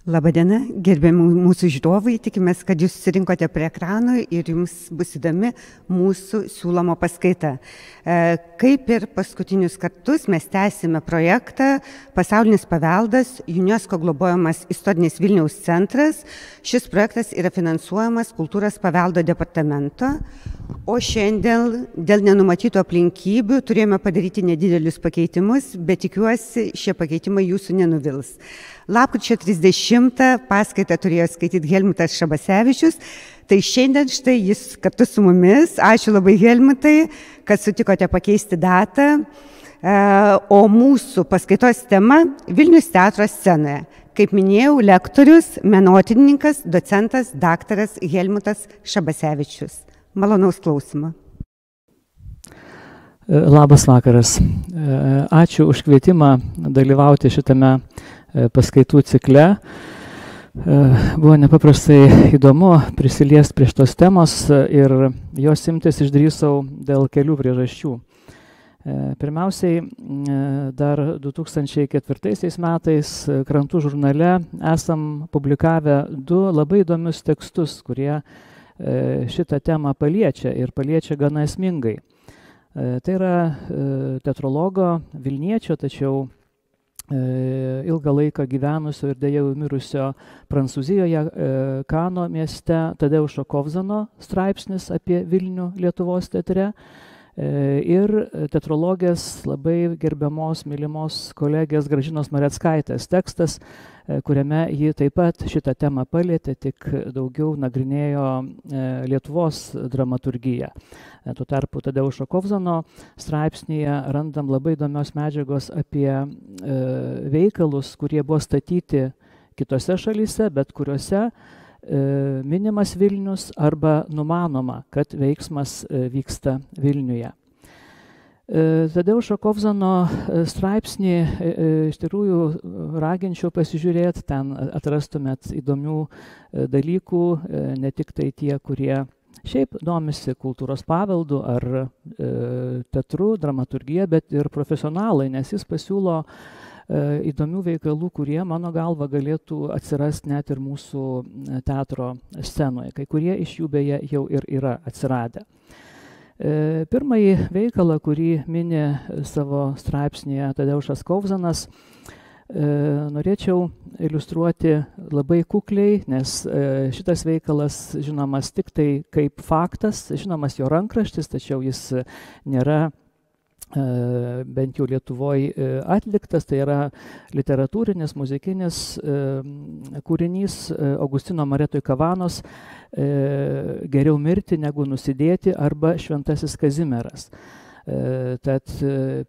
Labadiena, gerbiami mūsų žiūrovai, tikimės, kad jūs susirinkote prie ekranų ir jums bus įdomi mūsų siūloma paskaita. Kaip ir paskutinius kartus mes tęsime projektą Pasaulinis paveldas, UNESCO globojamas istorinis Vilniaus centras. Šis projektas yra finansuojamas Kultūros paveldo departamento, o šiandien dėl nenumatytų aplinkybių turėjome padaryti nedidelius pakeitimus, bet tikiuosi, šie pakeitimai jūsų nenuvils. Lapkričio 30 paskaitą turėjo skaityti Helmutas Šabasevičius, tai šiandien štai jis kartu su mumis. Ačiū labai, Helmutai, kad sutikote pakeisti datą. O mūsų paskaitos tema – Vilnius teatro scenoje. Kaip minėjau, lektorius, menotyrininkas, docentas, daktaras Helmutas Šabasevičius. Malonaus klausimo. Labas vakaras. Ačiū už kvietimą dalyvauti šitame paskaitų cikle. Buvo nepaprastai įdomu prisiliesti prie šitos temos ir jos imtis išdrįsau dėl kelių priežasčių. Pirmiausiai, dar 2004 metais Krantų žurnale esam publikavę 2 labai įdomius tekstus, kurie šitą temą paliečia ir paliečia gana esmingai. Tai yra teatrologo Vilniečio, tačiau ilgą laiką gyvenusio ir deja jau mirusio Prancūzijoje Kano mieste Tadeušo Kovzano straipsnis apie Vilnių Lietuvos teatre ir teatrologės labai gerbiamos, mylimos kolegės Gražinos Mareckaitės tekstas, kuriame ji taip pat šitą temą palietė, tik daugiau nagrinėjo Lietuvos dramaturgiją. Tuo tarpu Tadeušo Kovzano straipsnyje randam labai įdomios medžiagos apie veikalus, kurie buvo statyti kitose šalyse, bet kuriuose minimas Vilnius arba numanoma, kad veiksmas vyksta Vilniuje. Tadeušo Kovzano straipsnį iš tikrųjų raginčiau pasižiūrėti, ten atrastumėt įdomių dalykų, ne tik tai tie, kurie šiaip domisi kultūros paveldu ar teatru, dramaturgija, bet ir profesionalai, nes jis pasiūlo įdomių veikalų, kurie, mano galva, galėtų atsirasti net ir mūsų teatro scenoje. Kai kurie iš jų beje jau ir yra atsiradę. Pirmąjį veikalą, kurį mini savo straipsnėje Tadeušas Kovzanas, norėčiau iliustruoti labai kukliai, nes šitas veikalas žinomas tik tai kaip faktas, žinomas jo rankraštis, tačiau jis nėra bent jau Lietuvoje atliktas, tai yra literatūrinis, muzikinis kūrinys Augustino Maretoj Kavanos Geriau mirti negu nusidėti arba Šventasis Kazimieras. Tad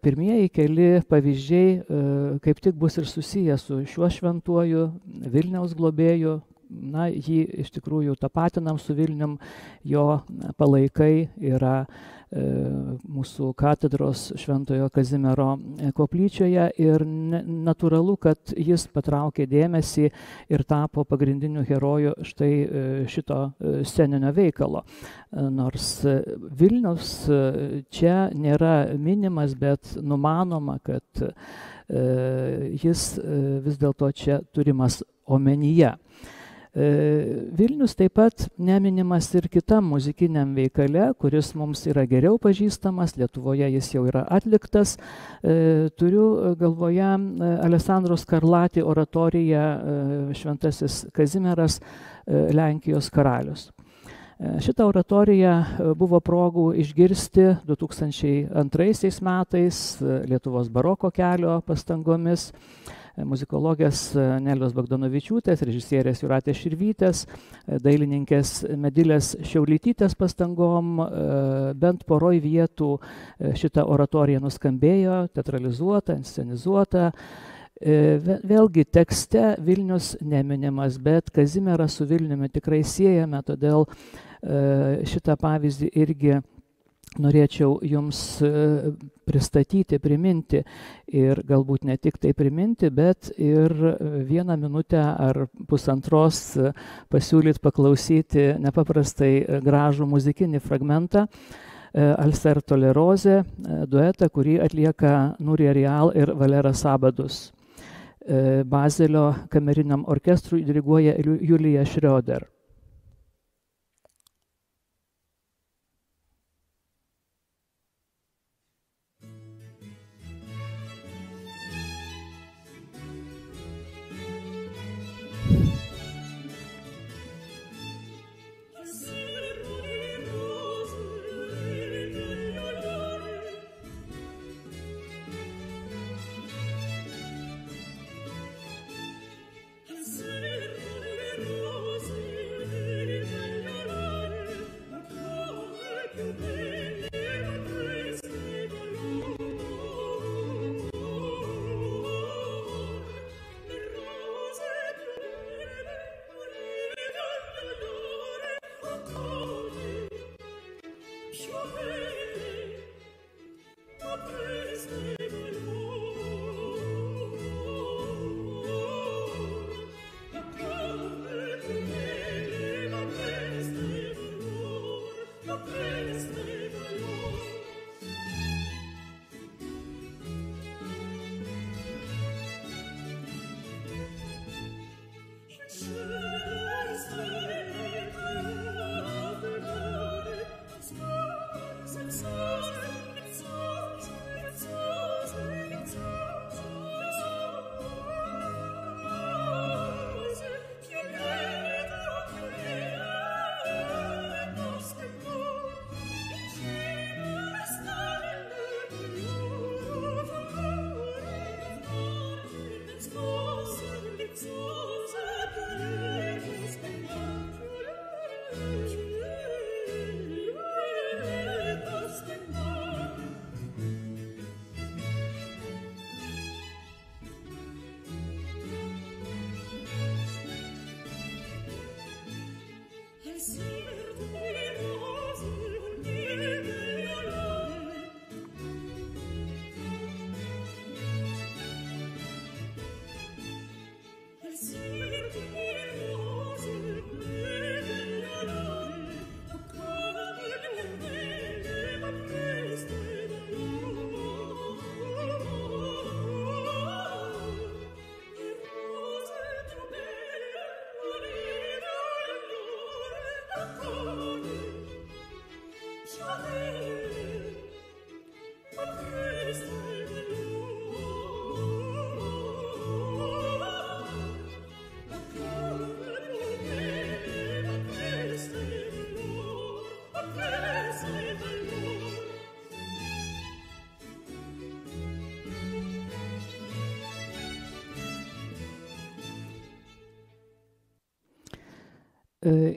pirmieji keli pavyzdžiai kaip tik bus ir susiję su šiuo šventuoju Vilniaus globėju. Na, jį iš tikrųjų tapatinam su Vilnium, jo palaikai yra mūsų katedros Šventojo Kazimiero koplyčioje ir natūralu, kad jis patraukė dėmesį ir tapo pagrindiniu heroju štai šito sceninio veikalo. Nors Vilnius čia nėra minimas, bet numanoma, kad jis vis dėlto čia turimas omenyje. Vilnius taip pat neminimas ir kitam muzikiniam veikale, kuris mums yra geriau pažįstamas, Lietuvoje jis jau yra atliktas. Turiu galvoje Alessandro Scarlatti oratoriją Šventasis Kazimieras, Lenkijos karalius. Šitą oratoriją buvo progų išgirsti 2002 metais Lietuvos baroko kelio pastangomis. muzikologės Nelijos Bagdonavičiūtės, režisierės Jūratės Širvytės, dailininkės Medilės Šiaulytytės pastangom bent poroj vietų šita oratorija nuskambėjo, teatralizuota, inscenizuota. Vėlgi tekste Vilnius neminimas, bet Kazimierą su Vilniumi tikrai siejame, todėl šitą pavyzdį irgi norėčiau jums pristatyti, priminti ir galbūt ne tik tai priminti, bet ir 1 minutę ar pusantros pasiūlyti paklausyti nepaprastai gražų muzikinį fragmentą Alser Tolerozė duetą, kurį atlieka Nurija Rial ir Valeras Sabadus. Bazelio kameriniam orkestrui diriguoja Julija Šrioder.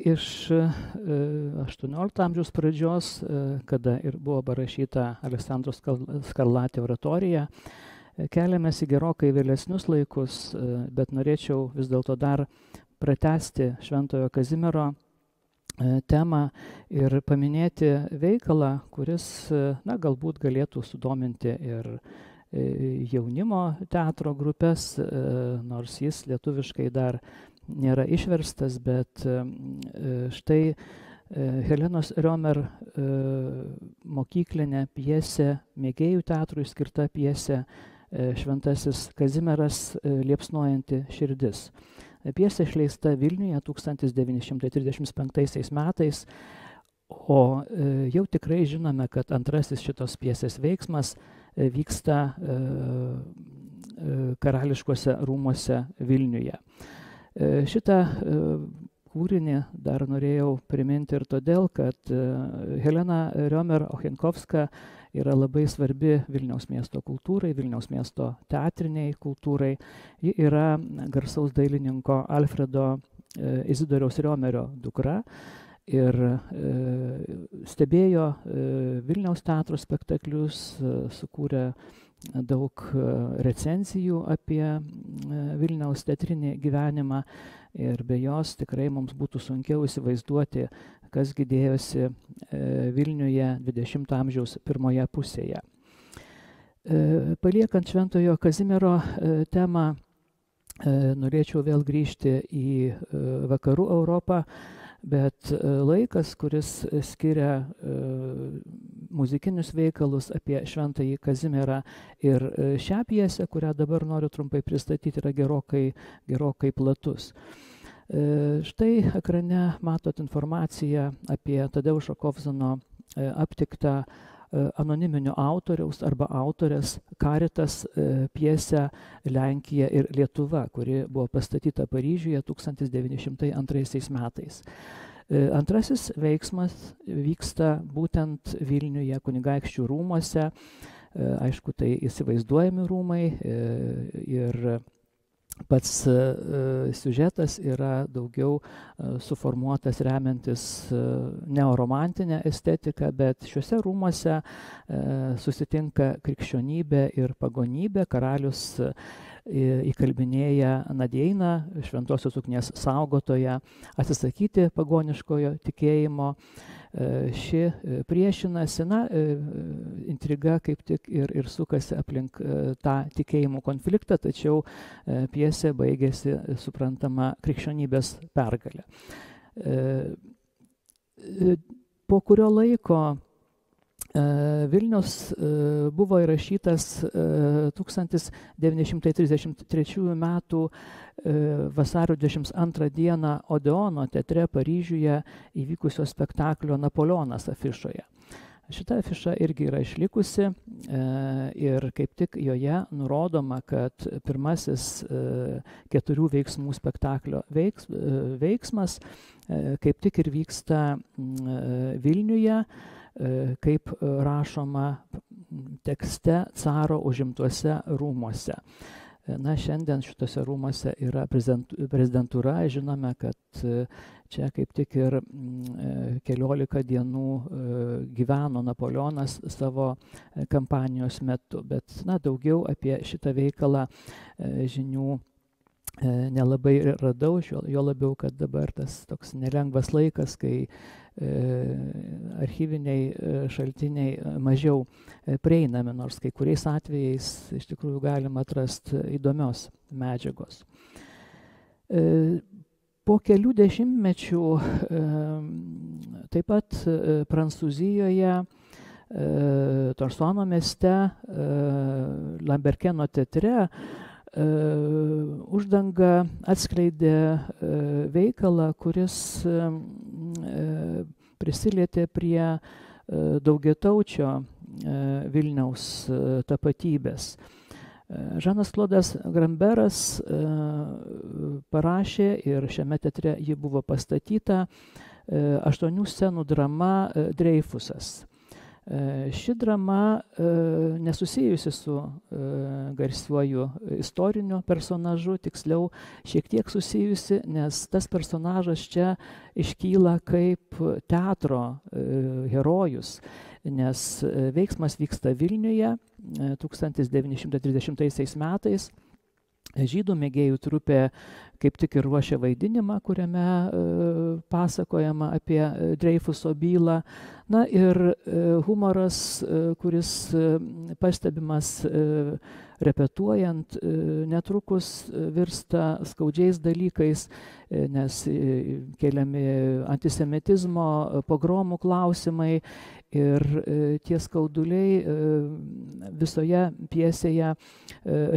Iš 18 amžiaus pradžios, kada ir buvo parašyta Aleksandro Skarlatė oratorija, keliamės į gerokai vėlesnius laikus, bet norėčiau vis dėlto dar pratęsti Šventojo Kazimiero temą ir paminėti veikalą, kuris galbūt galėtų sudominti ir jaunimo teatro grupės, nors jis lietuviškai dar nėra išverstas, bet štai Helenos Riomer mokyklinė pjesė, mėgėjų teatrui skirta pjesė Šventasis Kazimieras liepsnojanti širdis. Pjesė išleista Vilniuje 1935 metais, o jau tikrai žinome, kad antrasis šitos pjesės veiksmas vyksta karališkuose rūmuose Vilniuje. Šitą kūrinį dar norėjau priminti ir todėl, kad Helena Riomer Ochenkovska yra labai svarbi Vilniaus miesto kultūrai, Vilniaus miesto teatriniai kultūrai. Ji yra garsaus dailininko Alfredo Izidoriaus Riomerio dukra ir stebėjo Vilniaus teatro spektaklius, sukūrė daug recenzijų apie Vilniaus teatrinį gyvenimą ir be jos tikrai mums būtų sunkiau įsivaizduoti, kasgi dėjosi Vilniuje 20 amžiaus pirmoje pusėje. Paliekant Šventojo Kazimiero temą, norėčiau vėl grįžti į vakarų Europą, bet laikas, kuris skiria muzikinius veikalus apie Šventąjį Kazimierą ir šią pjesę, kurią dabar noriu trumpai pristatyti, yra gerokai platus. Štai ekrane matot informaciją apie Tadeušo Kovzano aptiktą anoniminio autoriaus arba autorės Karitas pjesę Lenkija ir Lietuva, kuri buvo pastatyta Paryžiuje 1902 metais. Antrasis veiksmas vyksta būtent Vilniuje kunigaikščių rūmuose. Aišku, tai įsivaizduojami rūmai ir pats siužetas yra daugiau suformuotas remiantis neoromantinę estetiką, bet šiuose rūmuose susitinka krikščionybė ir pagonybė. Karalius įkalbinėja Nadeiną, šventosios ugnies saugotoją, atsisakyti pagoniškojo tikėjimo. Ši priešinasi, intriga kaip tik ir sukasi aplink tą tikėjimų konfliktą, tačiau pjesė baigėsi, suprantama, krikščionybės pergalė. Po kurio laiko Vilnius buvo įrašytas 1933 metų vasario 22 dieną Odeono teatre Paryžiuje įvykusio spektaklio Napoleonas afišoje. Šita afiša irgi yra išlikusi ir kaip tik joje nurodoma, kad pirmasis 4 veiksmų spektaklio veiksmas kaip tik ir vyksta Vilniuje, kaip rašoma tekste caro užimtuose rūmuose. Šiandien šitose rūmuose yra prezidentūra. Žinome, kad čia kaip tik ir 14 dienų gyveno Napoleonas savo kampanijos metu. Bet daugiau apie šitą veikalą žinių nelabai radau, jo labiau, kad dabar tas toks nelengvas laikas, kai archyviniai šaltiniai mažiau prieinami, nors kai kuriais atvejais iš tikrųjų galima atrasti įdomios medžiagos. Po kelių dešimtmečių taip pat Prancūzijoje, Torsono mieste, Lamberkeno teatre uždanga atskleidė veikalą, kuris prisilietė prie daugiataučio Vilniaus tapatybės. Žanas Klodas Gramberas parašė ir šiame teatre ji buvo pastatyta 8 scenų drama Dreifusas. Ši drama nesusijusi su garsiuoju istoriniu personažu, tiksliau šiek tiek susijusi, nes tas personažas čia iškyla kaip teatro herojus, nes veiksmas vyksta Vilniuje 1930 metais. Žydų mėgėjų trupė kaip tik ir ruošia vaidinimą, kuriame pasakojama apie Dreifuso bylą. Ir humoras, kuris pastebimas repetuojant, netrukus virsta skaudžiais dalykais, nes keliami antisemitizmo, pogromų klausimai ir tie skauduliai visoje pjesėje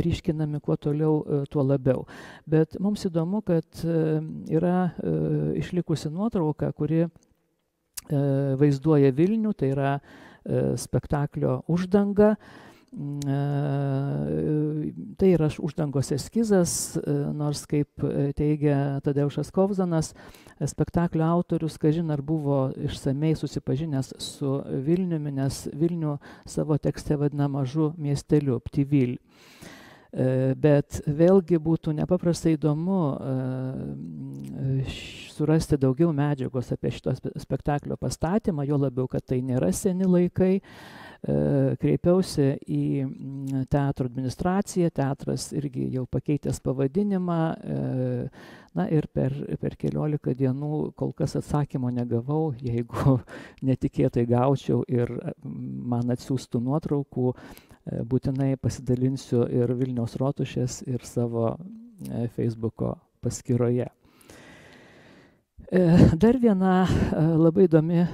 ryškinami kuo toliau, tuo labiau. Bet mums įdomu, kad yra išlikusi nuotrauka, kuri vaizduoja Vilnių, tai yra spektaklio Uždanga. Tai yra uždangos eskizas, nors kaip teigia Tadeušas Kovzanas, spektaklio autorius, kažin ar buvo išsamei susipažinęs su Vilniumi, nes Vilnių savo tekste vadina mažu miesteliu, Ptyvil. Bet vėlgi būtų nepaprastai įdomu surasti daugiau medžiagos apie šito spektaklio pastatymą, jo labiau, kad tai nėra seni laikai. Kreipiausi į teatro administraciją, teatras irgi jau pakeitęs pavadinimą, na ir per keliolika dienų kol kas atsakymo negavau, jeigu netikėtai gaučiau ir man atsiųstų nuotraukų, būtinai pasidalinsiu ir Vilniaus rotušės, ir savo Facebooko paskyroje. Dar viena labai įdomi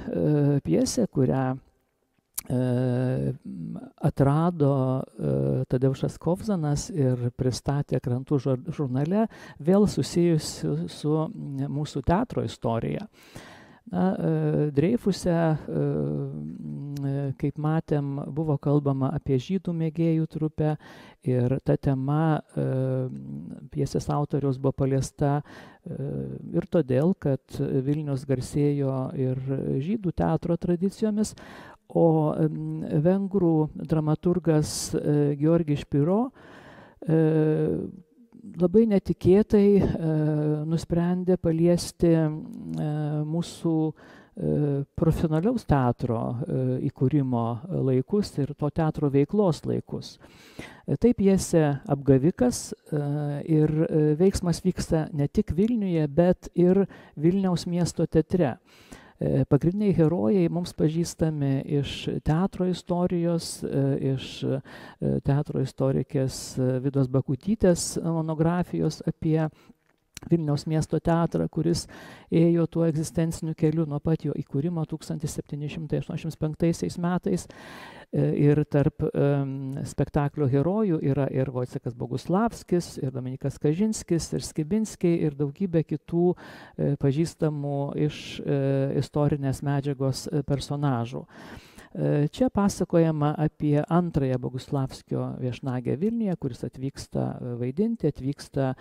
pjesė, kurią atrado Tadeušas Kovzanas ir pristatė Krantų žurnale, vėl susijusi su mūsų teatro istorija. Dreifuse, kaip matėm, buvo kalbama apie žydų mėgėjų trupę ir ta tema pjesės autoriaus buvo paliesta ir todėl, kad Vilnius garsėjo ir žydų teatro tradicijomis, o vengrų dramaturgas Georgis Špiro labai netikėtai nusprendė paliesti mūsų profesionaliaus teatro įkūrimo laikus ir to teatro veiklos laikus. Tai pjesė Apgavikas ir veiksmas vyksta ne tik Vilniuje, bet ir Vilniaus miesto teatre. Pagrindiniai herojai mums pažįstami iš teatro istorijos, iš teatro istorikės Vidos Bakutytės monografijos apie Vilniaus miesto teatrą, kuris ėjo tuo egzistenciniu keliu nuo pat jo įkūrimo 1785 metais. Ir tarp spektaklio herojų yra ir Vojcechas Boguslavskis, ir Dominikas Kažinskis, ir Skibinskiai, ir daugybė kitų pažįstamų iš istorinės medžiagos personažų. Čia pasakojama apie antrąją Boguslavskio viešnagę Vilniuje, kuris atvyksta vaidinti, atvyksta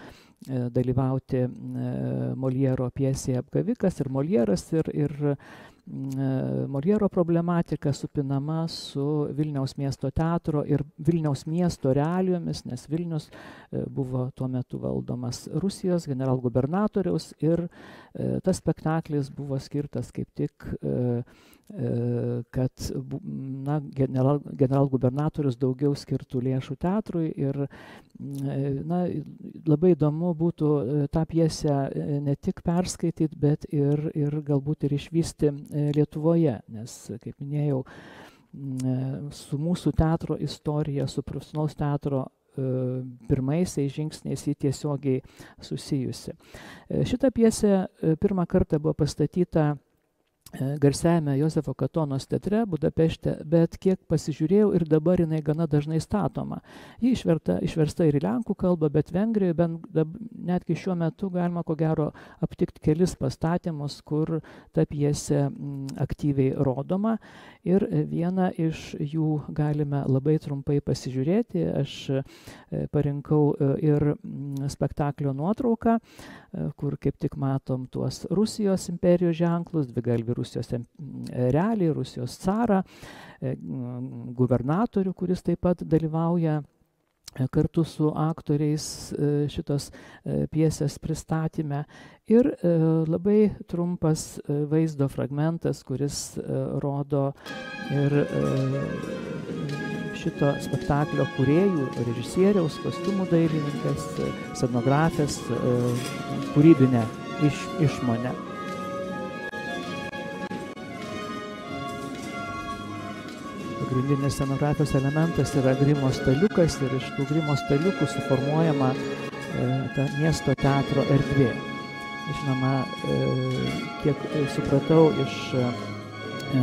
dalyvauti Moliero pjesėje Apgavikas, ir Molieras, ir Moliero problematika supinama su Vilniaus miesto teatro ir Vilniaus miesto realijomis, nes Vilnius buvo tuo metu valdomas Rusijos generalgubernatoriaus ir tas spektaklis buvo skirtas kaip tik, kad generalgubernatorius daugiau skirtų lėšų teatrui ir labai įdomu būtų tą pjesę ne tik perskaityti, bet ir galbūt ir išvysti Lietuvoje, nes, kaip minėjau, su mūsų teatro istorija, su profesionalaus teatro pirmaisiais žingsniais jį tiesiogiai susijusi. Šita pjesė pirmą kartą buvo pastatyta garsiajame Jozefo Katonos teatre Budapešte, bet kiek pasižiūrėjau ir dabar jinai gana dažnai statoma. Ji išversta ir į lenkų kalbą, bet Vengrijoje netgi šiuo metu galima ko gero aptikti kelis pastatymus, kur ta pjesė aktyviai rodoma. Ir vieną iš jų galime labai trumpai pasižiūrėti. Aš parinkau ir spektaklio nuotrauką, kur kaip tik matom tuos Rusijos imperijos ženklus, dvigalvį Rusijos erelį, Rusijos carą, gubernatorių, kuris taip pat dalyvauja kartu su aktoriais šitos pjesės pristatyme. Ir labai trumpas vaizdo fragmentas, kuris rodo ir šito spektaklio kūrėjų, režisieriaus, kostiumų dailininkas, scenografės kūrybinę išmonę. Pagrindinis scenografijos elementas yra grimo staliukas ir iš tų grimo staliukų suformuojama ta miesto teatro erdvė. Žinoma, kiek supratau iš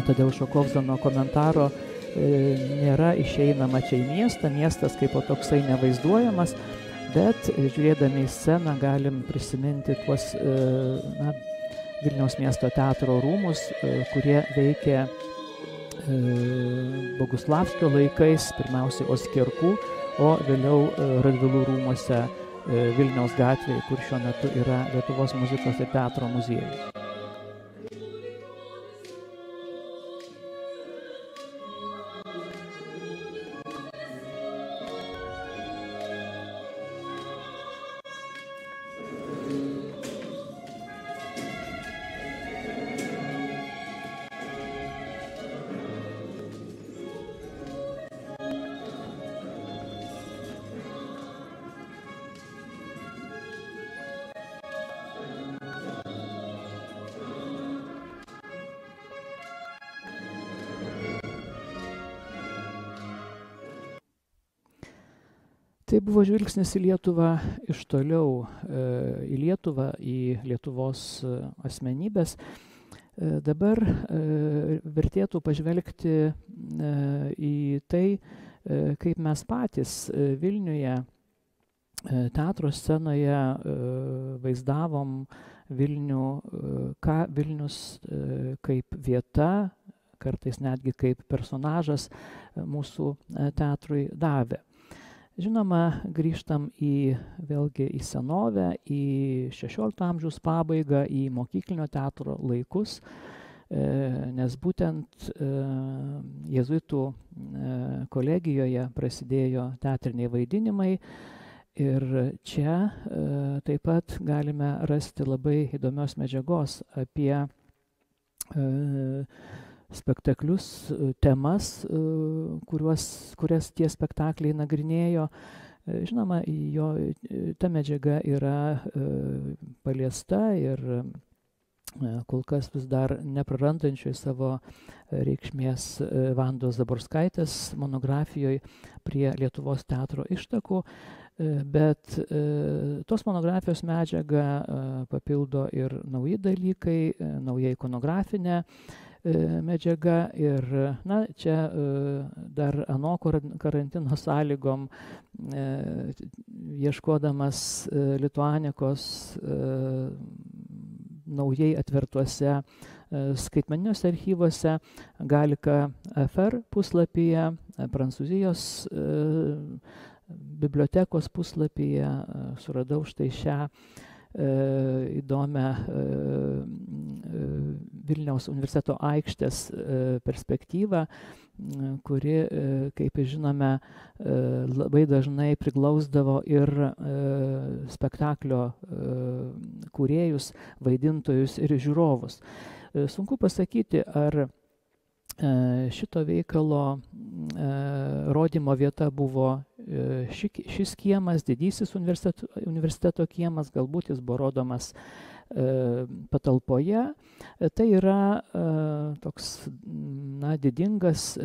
Tadeušo Kovzano komentaro, nėra išeinama čia į miestą, miestas kaip o toksai nevaizduojamas, bet žiūrėdami į sceną galim prisiminti tuos Vilniaus miesto teatro rūmus, kurie veikia Boguslavskio laikais, pirmiausiai Oskierkų, o vėliau Radvilų rūmuose Vilniaus gatvėje, kur šiuo metu yra Lietuvos muzikos ir teatro muziejus. Tai buvo žvilgsnis į Lietuvą iš toliau, į Lietuvą, į Lietuvos asmenybės. Dabar vertėtų pažvelgti į tai, kaip mes patys Vilniuje teatro scenoje vaizdavom Vilnių, ką Vilnius kaip vieta, kartais netgi kaip personažas mūsų teatrui davė. Žinoma, grįžtam vėlgi į senovę, į 16 amžiaus pabaigą, į mokyklinio teatro laikus, nes būtent jėzuitų kolegijoje prasidėjo teatriniai vaidinimai ir čia taip pat galime rasti labai įdomios medžiagos apie spektaklius, temas, kurias tie spektakliai nagrinėjo. Žinoma, ta medžiaga yra paliesta ir kol kas vis dar neprarandančioj savo reikšmės Vandos Zaborskaitės monografijoje prie Lietuvos teatro ištakų, bet tos monografijos medžiagą papildo ir nauji dalykai, nauja ikonografinė medžiaga ir čia dar ano karantino sąlygom, ieškodamas Lituanikos naujai atvertuose skaitmeniniuose archyvuose, Galika FR puslapyje, Prancūzijos bibliotekos puslapyje suradau štai šią įdomią Vilniaus universiteto aikštės perspektyvą, kuri, kaip žinome, labai dažnai priglausdavo ir spektaklio kūrėjus, vaidintojus ir žiūrovus. Sunku pasakyti, ar šito veikalo rodymo vieta buvo šis kiemas, didysis universiteto kiemas, galbūt jis buvo rodomas patalpoje. Tai yra toks didingas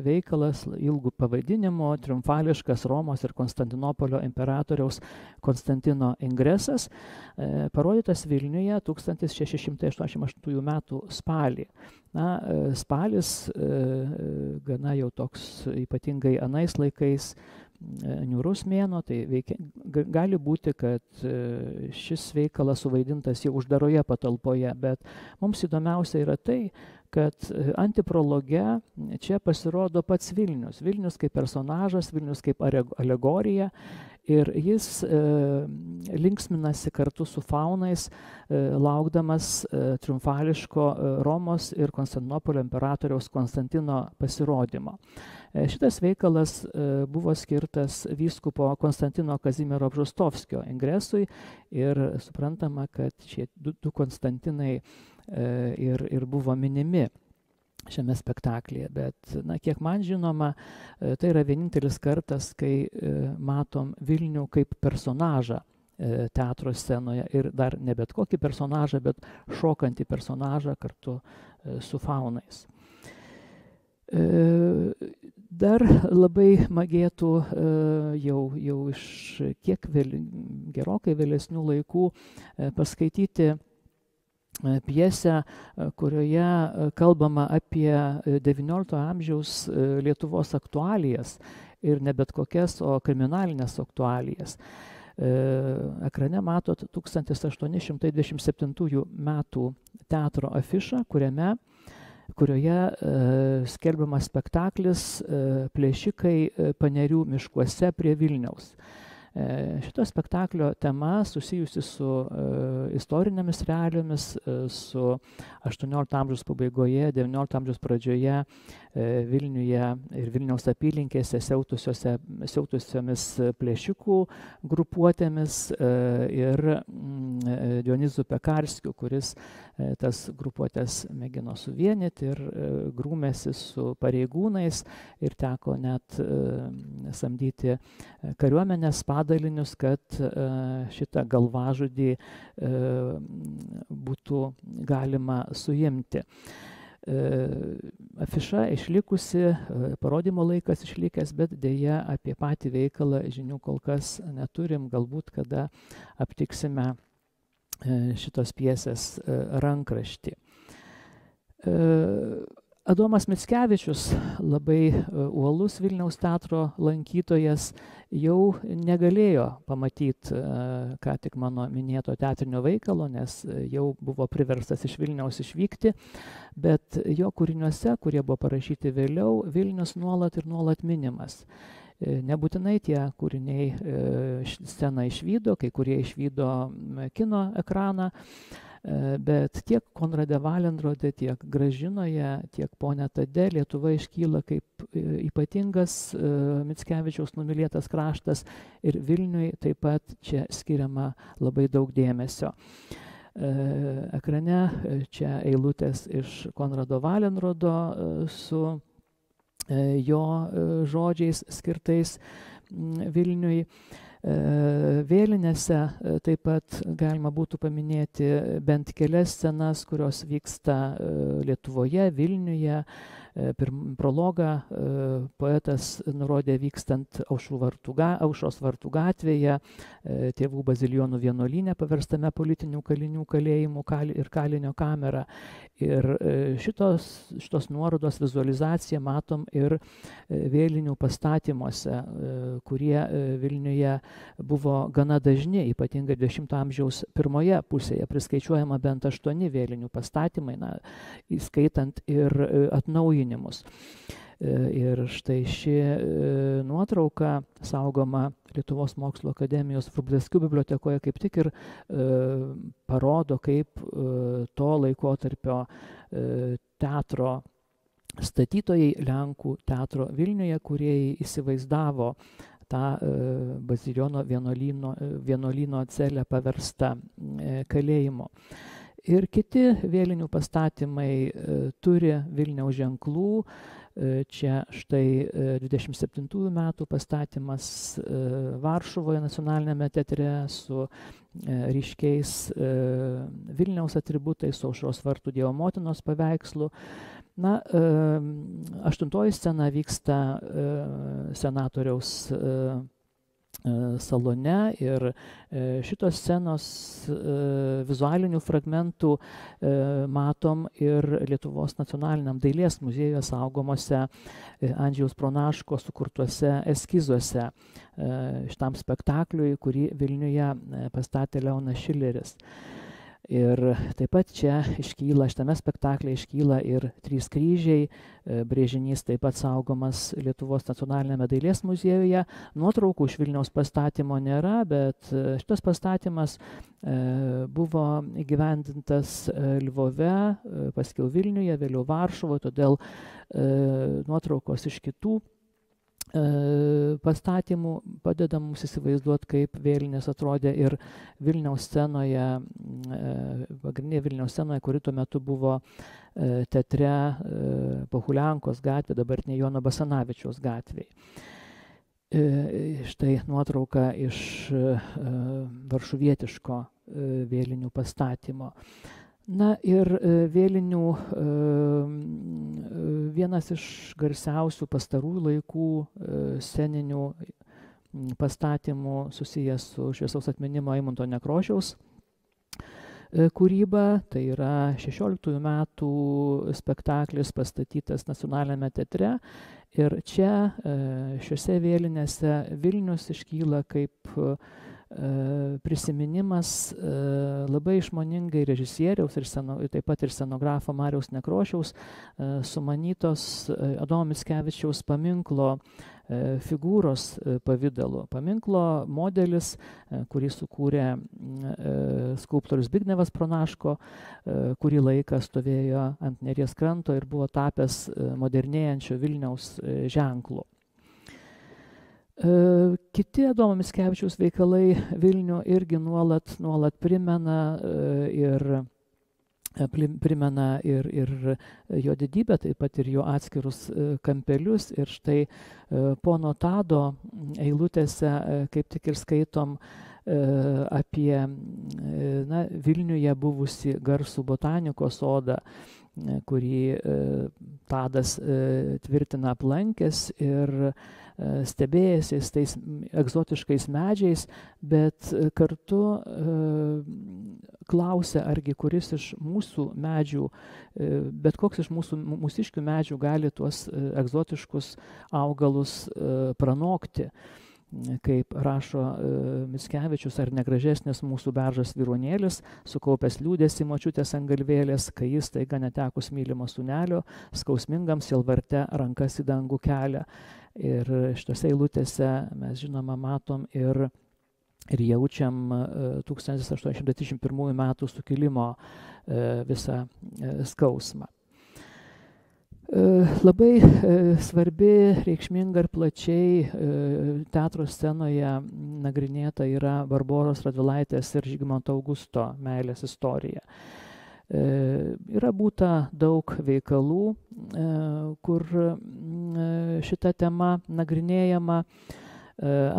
veikalas ilgų pavadinimo, triumfališkas Romos ir Konstantinopolio imperatoriaus Konstantino ingresas, parodytas Vilniuje 1688 metų spalį. Spalis gana jau toks ypatingai anais laikais niūrus mėnuo, tai gali būti, kad šis veikalas suvaidintas jau uždaroje patalpoje, bet mums įdomiausia yra tai, kad antiprologe čia pasirodo pats Vilnius. Vilnius kaip personažas, Vilnius kaip alegorija ir jis linksminasi kartu su faunais, laukdamas triumfališko Romos ir Konstantinopolio imperatoriaus Konstantino pasirodymo. Šitas veikalas buvo skirtas vyskupo Konstantino Kazimiero Bžostovskio ingresui ir suprantama, kad šie du Konstantinai ir buvo minimi šiame spektaklyje, bet kiek man žinoma, tai yra vienintelis kartas, kai matom Vilnių kaip personažą teatro scenoje ir dar ne bet kokį personažą, bet šokantį personažą kartu su faunais. Dar labai magėtų jau iš kiek gerokai vėlesnių laikų paskaityti pjesę, kurioje kalbama apie XIX amžiaus Lietuvos aktualijas ir ne bet kokias, o kriminalinės aktualijas. Ekrane matot 1827 metų teatro afišą, kuriame kurioje skelbiamas spektaklis Plėšikai Panerių miškuose prie Vilniaus. Šito spektaklio tema susijusi su istorinėmis realijomis, su 18 amžiaus pabaigoje, 19 amžiaus pradžioje Vilniuje ir Vilniaus apylinkėse siautusiomis plėšikų grupuotėmis ir Dionizu Pekarskiu, kuris tas grupuotės mėgino suvienyti ir grūmėsi su pareigūnais ir teko net samdyti kariuomenės padalinius, kad šitą galvažudį būtų galima suimti. Afiša išlikusi, parodymo laikas išlikęs, bet dėja apie patį veikalą žinių kol kas neturim, galbūt kada aptiksime šitos pjesės rankraštį. Adomas Mickevičius, labai uolus Vilniaus teatro lankytojas, jau negalėjo pamatyti ką tik mano minėto teatrinio veikalo, nes jau buvo priverstas iš Vilniaus išvykti, bet jo kūriniuose, kurie buvo parašyti vėliau, Vilnius nuolat ir nuolat minimas. Nebūtinai tie kūriniai sceną išvydo, kai kurie išvydo kino ekraną, bet tiek Konrade Valenrode, tiek Gražinoje, tiek Pone Tade Lietuva iškyla kaip ypatingas Mickevičiaus numylėtas kraštas ir Vilniui taip pat čia skiriama labai daug dėmesio. Ekrane čia eilutės iš Konrado Valenrodo su jo žodžiais skirtais Vilniui. Vėlinėse taip pat galima būtų paminėti bent kelias scenas, kurios vyksta Lietuvoje, Vilniuje. Prologą poetas nurodė vykstant Aušros vartų gatvėje, Tėvų bazilijonų vienuolyne paverstame politinių kalinių kalėjimų ir kalinio kamerą. Ir šitos nuorodos vizualizaciją matom ir vėlinių pastatymuose, kurie Vilniuje buvo gana dažni, ypatingai 20 amžiaus pirmoje pusėje, priskaičiuojama bent 8 vėlinių pastatymai, įskaitant ir atnaujinimus. Ir štai ši nuotrauka saugoma Lietuvos mokslo akademijos Vrublevskių bibliotekoje kaip tik ir parodo, kaip to laikotarpio teatro statytojai, Lenkų teatro Vilniuje, kurie įsivaizdavo tą bazilijonų vienuolyno celę paverstą kalėjimo. Ir kiti vėlinių pastatymai turi Vilniaus ženklų. Čia štai 27 metų pastatymas Varšuvoje nacionalinėme teatre su ryškiais Vilniaus atributais, su Aušros vartų Dievo motinos paveikslu. 8 scena vyksta senatoriaus salone ir šitos scenos vizualinių fragmentų matom ir Lietuvos nacionaliniam dailės muziejuje saugomose Andžejaus Pronaško sukurtuose eskizuose šitam spektakliui, kurį Vilniuje pastatė Leonas Šileris. Ir taip pat čia šitame spektaklyje iškyla ir 3 kryžiai, brėžinys taip pat saugomas Lietuvos nacionalinėme dailės muziejuje. Nuotraukų iš Vilniaus pastatymo nėra, bet šitas pastatymas buvo įgyvendintas Lvove, paskiau Vilniuje, vėliau Varšuvoje, todėl nuotraukos iš kitų pastatymų padeda mums įsivaizduoti, kaip vėlinės atrodė ir Vilniaus scenoje, pagrindinė Vilniaus scenoje, kuri tuo metu buvo teatre Pohuliankos gatvė, dabartinė Jono Basanavičiaus gatvėje. Štai nuotrauka iš varšuvietiško vėlinių pastatymo. Ir vėlinių vienas iš garsiausių pastarųjų laikų sceninių pastatymų susijęs su šviesaus atminimo Eimunto Nekrošiaus kūryba, tai yra 16 metų spektaklis pastatytas nacionalinėme teatre ir čia šiuose vėlinėse Vilnius iškyla kaip prisiminimas labai išmoningai režisieriaus ir taip pat ir scenografo Mariaus Nekrošiaus sumanytos Adomo Mickevičiaus paminklo figūros pavidalu. Paminklo modelis, kurį sukūrė skulptorius Zbignevas Pronaško, kurį laiką stovėjo ant Neries kranto ir buvo tapęs modernėjančio Vilniaus ženklu. Kiti Adomo Mickevičiaus veikalai Vilnių irgi nuolat primena ir jo didybę, taip pat ir jo atskirus kampelius. Ir štai pono Tado eilutėse kaip tik ir skaitom apie Vilniuje buvusi garsų botanikos sodą, kurį Tadas tvirtina aplankęs ir stebėjęsis tais egzotiškais medžiais, bet kartu klausia, argi kuris iš mūsų medžių, bet koks iš mūsiškių medžių gali tuos egzotiškus augalus pranokti. Kaip rašo Mickevičius, ar negražesnis mūsų beržas vyronėlis, sukaupęs liūdėsi močiutės ant galvėlės, kai jis taiga netekus mylimo sūnelio, skausmingam sielvarte rankas į dangų kelia. Ir šitose eilutėse mes žinoma matom ir jaučiam 1831 metų sukilimo visą skausmą. Labai svarbi, reikšminga ir plačiai teatro scenoje nagrinėta yra Barboros Radvilaitės ir Žygimanto Augusto meilės istorija. Yra būta daug veikalų, kur šita tema nagrinėjama.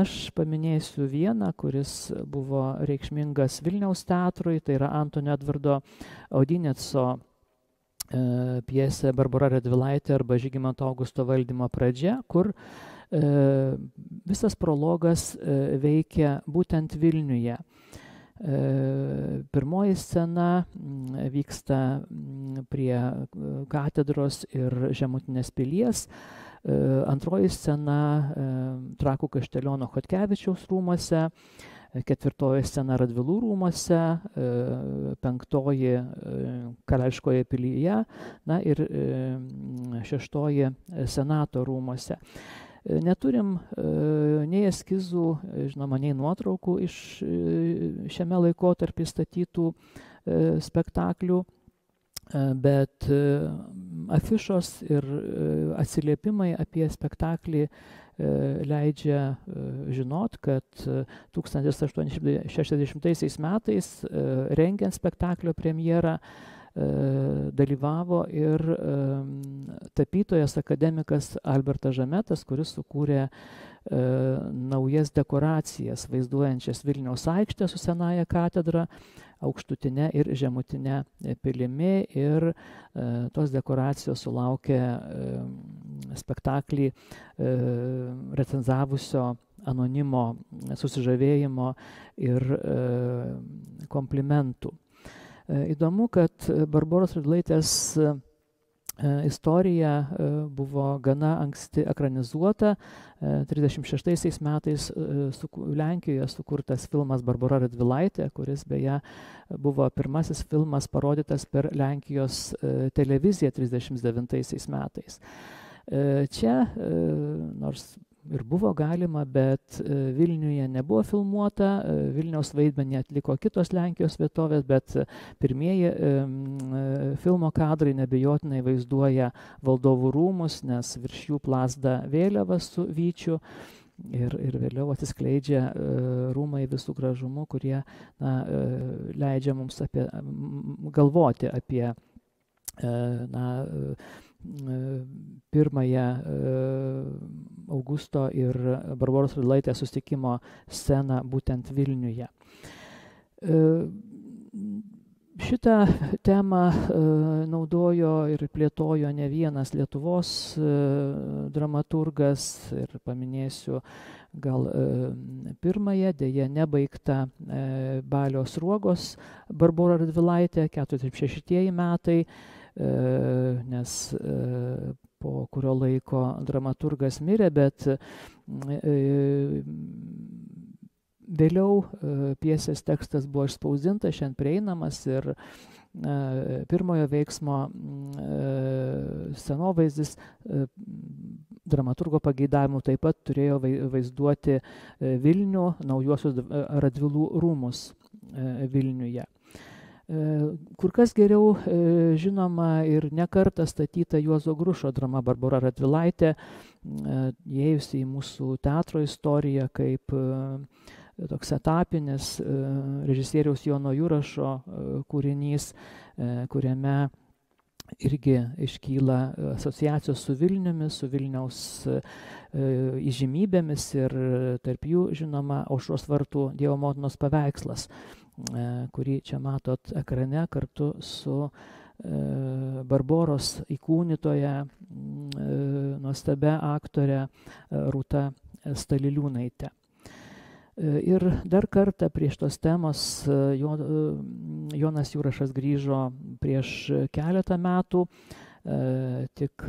Aš paminėsiu vieną, kuris buvo reikšmingas Vilniaus teatrui, tai yra Antonio Edvardo Audineco pjesė Barbora Radvilaitė arba Žygimanto Augusto valdymo pradžia, kur visas prologas veikia būtent Vilniuje. Pirmoji scena vyksta prie katedros ir Žemutinės pilies, antroji scena Trakų Kašteliono Chodkevičiaus rūmuose, ketvirtoji scena Radvilų rūmuose, penktoji Karališkoje pilyje, ir šeštoji Senato rūmuose. Neturim nei eskizų, žinoma, nei nuotraukų iš šiame laikotarpį statytų spektaklių, bet afišos ir atsiliepimai apie spektaklį leidžia žinot, kad 1860 metais rengiant spektaklio premjerą dalyvavo ir tapytojas akademikas Albertas Žametas, kuris sukūrė naujas dekoracijas vaizduojančias Vilniaus aikštę su Senąja katedra, aukštutinė ir žemutinė pilimi, ir tos dekoracijos sulaukė spektaklį recenzavusio anonimo susižavėjimo ir komplimentų. Įdomu, kad Barboros Radvilaitės istorija buvo gana anksti ekranizuota. 1936 metais Lenkijoje sukurtas filmas Barbora Radvilaitė, kuris beje buvo pirmasis filmas parodytas per Lenkijos televiziją 1939 metais. Čia, nors ir buvo galima, bet Vilniuje nebuvo filmuota, Vilniaus vaidmenį atliko kitos Lenkijos vietovės, bet pirmieji filmo kadrai neabejotinai vaizduoja Valdovų rūmus, nes virš jų plazda vėliava su vyčiu ir vėliau atsiskleidžia rūmai visų gražumų, kurie leidžia mums galvoti apie pirmąją Augusto ir Barboros Radvilaitės susitikimo sceną būtent Vilniuje. Šitą temą naudojo ir plėtojo ne vienas Lietuvos dramaturgas, ir paminėsiu gal pirmąją, deja nebaigtą Balio Sruogos Barbora Radvilaitė, 46 metai, nes po kurio laiko dramaturgas mirė, bet Vėliau pjesės tekstas buvo išspausdintas, šiandien prieinamas ir pirmojo veiksmo scenovaizdis dramaturgo pageidavimu taip pat turėjo vaizduoti Vilnių, naujuosius Radvilų rūmus Vilniuje. Kur kas geriau žinoma ir nekartą statyta Juozo Grušo drama Barbora Radvilaitė, įėjusi į mūsų teatro istoriją kaip toks etapinis režisieriaus Jono Jurašo kūrinys, kuriame irgi iškyla asociacijos su Vilniumi, su Vilniaus įžymybėmis ir tarp jų, žinoma, Aušros vartų Dievo motinos paveikslas, kurį čia matot ekrane kartu su Barboros įkūnytoja, nuostabia aktore Rūta Staliliūnaite. Ir dar kartą prieš tos temos Jonas Jurašas grįžo prieš keletą metų, tik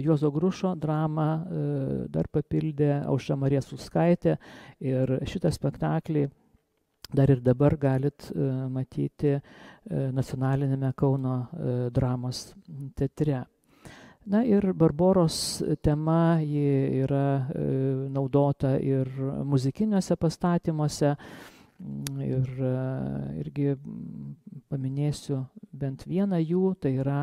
Juozo Grušo dramą dar papildė Aušra Marija Suskaitė ir šitą spektaklį dar ir dabar galit matyti Nacionalinėme Kauno dramos teatre. Na ir Barboros tema ji yra naudota ir muzikiniuose pastatymuose ir irgi paminėsiu bent vieną jų, tai yra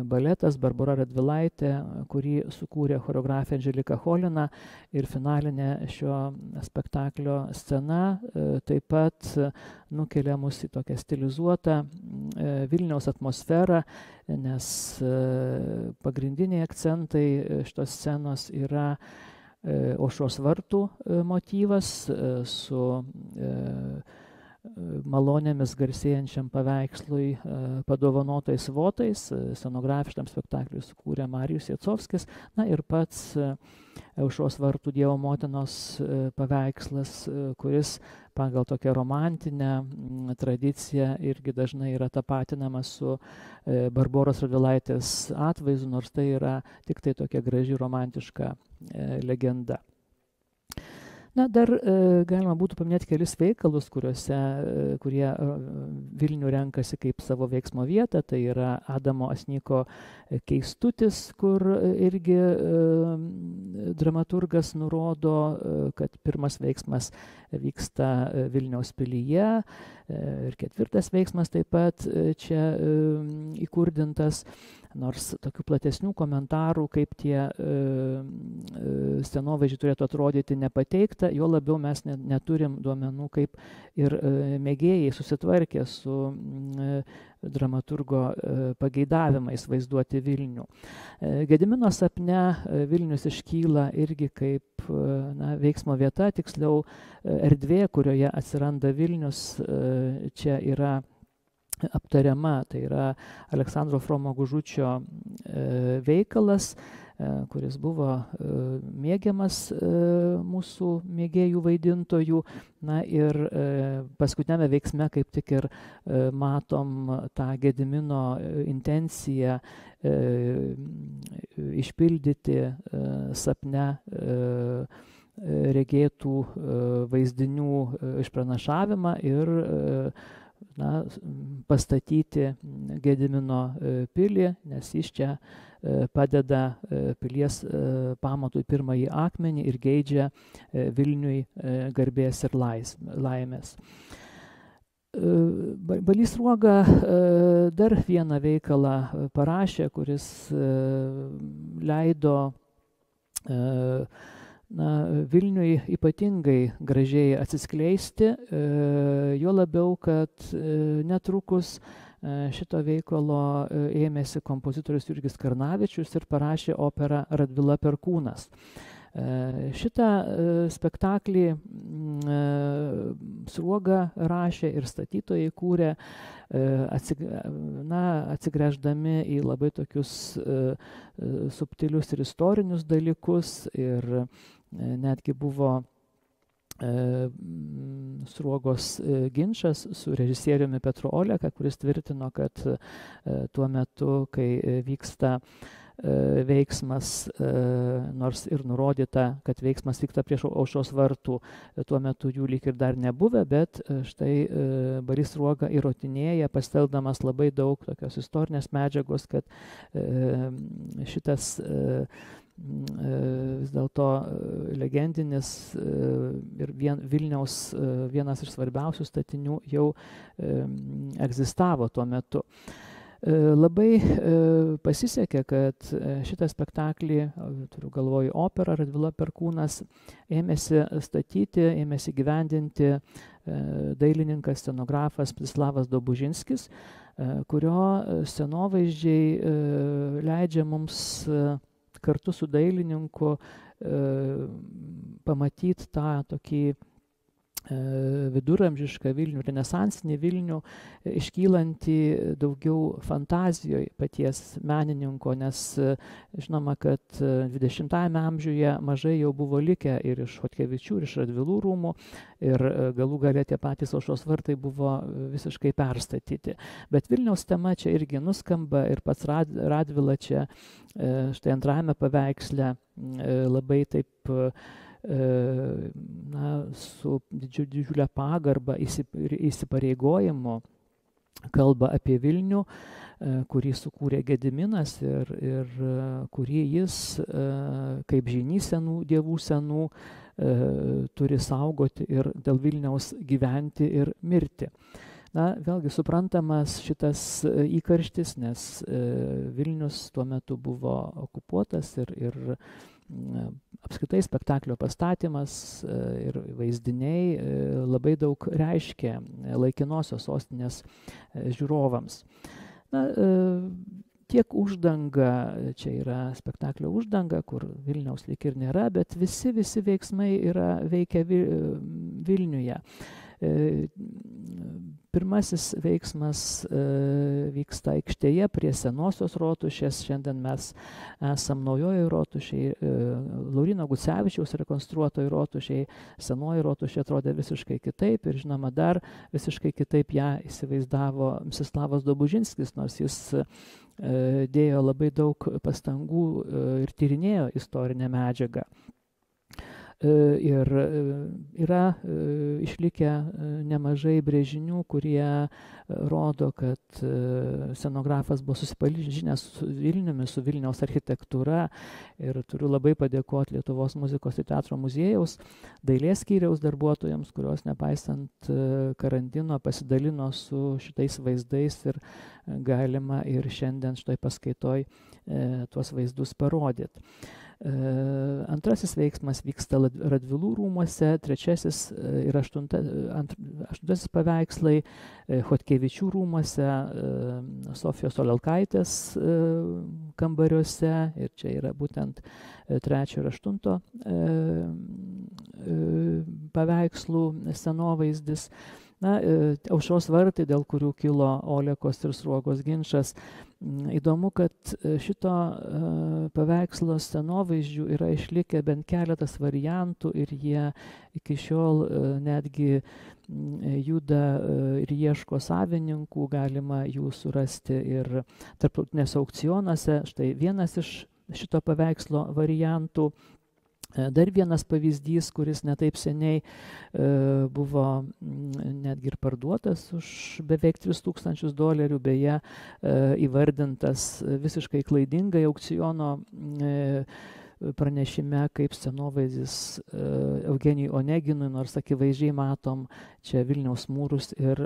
baletas Barbora Radvilaitė, kurį sukūrė choreografė Andželika Cholina ir finalinė šio spektaklio scena taip pat nukelia mus į tokią stilizuotą Vilniaus atmosferą, nes pagrindiniai akcentai šitos scenos yra Aušros vartų motyvas su malonėmis garsėjančiam paveikslui padovanotais votais. Scenografiškam spektakliui sukūrė Marijus Jacovskis, na ir pats Aušros vartų Dievo motinos paveikslas, kuris pagal tokią romantinę tradiciją irgi dažnai yra tapatinamas su Barboros Radvilaitės atvaizdu, nors tai yra tik tai tokia graži romantiška legenda. Na, dar galima būtų paminėti kelis veikalus, kurie Vilnių renkasi kaip savo veiksmo vietą. Tai yra Adamo Asnyko Keistutis, kur irgi dramaturgas nurodo, kad pirmas veiksmas vyksta Vilniaus pilyje ir ketvirtas veiksmas taip pat čia įkurdintas. Nors tokių platesnių komentarų, kaip tie scenovaizdžiai turėtų atrodyti, nepateikta, jo labiau mes neturim duomenų, kaip ir mėgėjai susitvarkė su dramaturgo pageidavimais vaizduoti Vilnių. Gedimino sapne Vilnius iškyla irgi kaip veiksmo vieta, tiksliau erdvė, kurioje atsiranda Vilnius, čia yra aptariama, tai yra Aleksandro Fromo Gužučio veikalas, kuris buvo mėgiamas mūsų mėgėjų vaidintojų. Na ir paskutinėme veiksme kaip tik ir matom tą Gedimino intenciją išpildyti sapne regėtų vaizdinių išpranašavimą ir pastatyti Gedimino pilį, nes jis čia padeda pilies pamatui pirmąjį akmenį ir geidžia Vilniui garbės ir laimės. Balys Sruoga dar vieną veikalą parašė, kuris leido Vilniui ypatingai gražiai atsiskleisti, juo labiau, kad netrukus šito veikalo ėmėsi kompozitorius Jurgis Karnavičius ir parašė operą Radvila Perkūnas. Šitą spektaklį Sruoga rašė ir statytojai kūrė, atsigręždami į labai tokius subtilius ir istorinius dalykus, ir netgi buvo Sruogos ginčas su režisieriumi Petru Oleka, kuris tvirtino, kad tuo metu, kai vyksta veiksmas, nors ir nurodyta, kad veiksmas vyksta prieš Aušros vartų, tuo metu jų lyg ir dar nebuvę, bet štai Balys Sruoga įrodinėja, pasitelkdamas labai daug tokios istorinės medžiagos, kad šitas vis dėlto legendinis ir Vilniaus vienas iš svarbiausių statinių jau egzistavo tuo metu. Labai pasisekė, kad šitą spektaklį, turiu galvoj operą, Radvila Perkūnas, ėmėsi statyti, ėmėsi gyvendinti dailininkas, scenografas Mstislavas Dobužinskis, kurio scenovaizdžiai leidžia mums kartu su dailininku pamatyti tą tokį viduramžišką Vilnių, renesansinį Vilnių, iškylantį daugiau fantazijoje paties menininko, nes žinoma, kad 20-ame amžiuje mažai jau buvo likę ir iš Chodkevičių, ir iš Radvilų rūmų, ir galų gale tie patys Aušros vartai buvo visiškai perstatyti. Bet Vilniaus tema čia irgi nuskamba ir pats Radvila čia štai antrajame paveiksle labai taip su didžiulė pagarba įsipareigojimu kalba apie Vilnių, kurį sukūrė Gediminas ir kurį jis, kaip žynys senų dievų senų, turi saugoti ir dėl Vilniaus gyventi ir mirti. Vėlgi suprantamas šitas įkarštis, nes Vilnius tuo metu buvo okupuotas ir apskritai spektaklio pastatymas ir vaizdiniai labai daug reiškia laikinosios sostinės žiūrovams. Tiek uždanga, čia yra spektaklio uždanga, kur Vilniaus lyg ir nėra, bet visi veiksmai veikia Vilniuje. Pirmasis veiksmas vyksta aikštėje prie senosios rotušės. Šiandien mes esam naujoje rotušėje, Lauryno Gucevičiaus rekonstruotoje rotušėje. Senoji rotušė atrodė visiškai kitaip ir žinoma dar visiškai kitaip ją įsivaizdavo Mstislavas Dobužinskis, nors jis dėjo labai daug pastangų ir tyrinėjo istorinę medžiagą. Ir yra išlikę nemažai brėžinių, kurie rodo, kad scenografas buvo susipažinęs su Vilniumi, su Vilniaus architektūra, ir turiu labai padėkoti Lietuvos muzikos ir teatro muziejaus dailės skyriaus darbuotojams, kurios nepaisant karantino pasidalino su šitais vaizdais ir galima ir šiandien štai paskaitoj tuos vaizdus parodyti. Antrasis veiksmas vyksta Radvilų rūmuose, trečiasis ir aštuntasis paveikslai Chodkevičių rūmuose, Sofijos Olelkaitės kambariuose, ir čia yra būtent trečio ir aštunto paveikslų scenovaizdis. Aušros vartai, dėl kurių kilo Olekos ir Sruogos ginčas. Įdomu, kad šito paveikslo scenovaizdžių yra išlikę bent keletas variantų ir jie iki šiol netgi juda ir ieško savininkų, galima jų surasti ir tarptautinėse aukcionuose. Štai vienas iš šito paveikslo variantų. Dar vienas pavyzdys, kuris netaip seniai buvo netgi ir parduotas už beveik $3000, beje, įvardintas visiškai klaidingai aukciono pranešime kaip scenovaizdis Eugenijui Oneginui, nors akivaizdžiai matom čia Vilniaus mūrus ir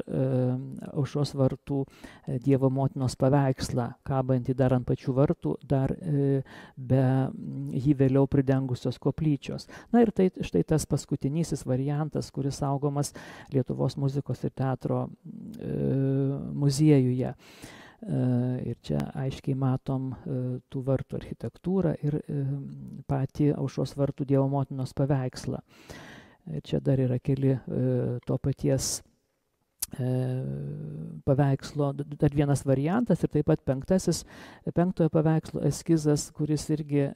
Aušros vartų Dievo motinos paveikslą, kabantį dar ant pačių vartų, dar be jį vėliau pridengusios koplyčios. Ir tai štai tas paskutinysis variantas, kuris saugomas Lietuvos muzikos ir teatro muziejuje. Ir čia aiškiai matom tų vartų architektūrą ir patį Aušros vartų Dievo motinos paveikslą. Čia dar yra keli to paties paveikslo, dar vienas variantas ir taip pat penktojo paveikslo eskizas, kuris irgi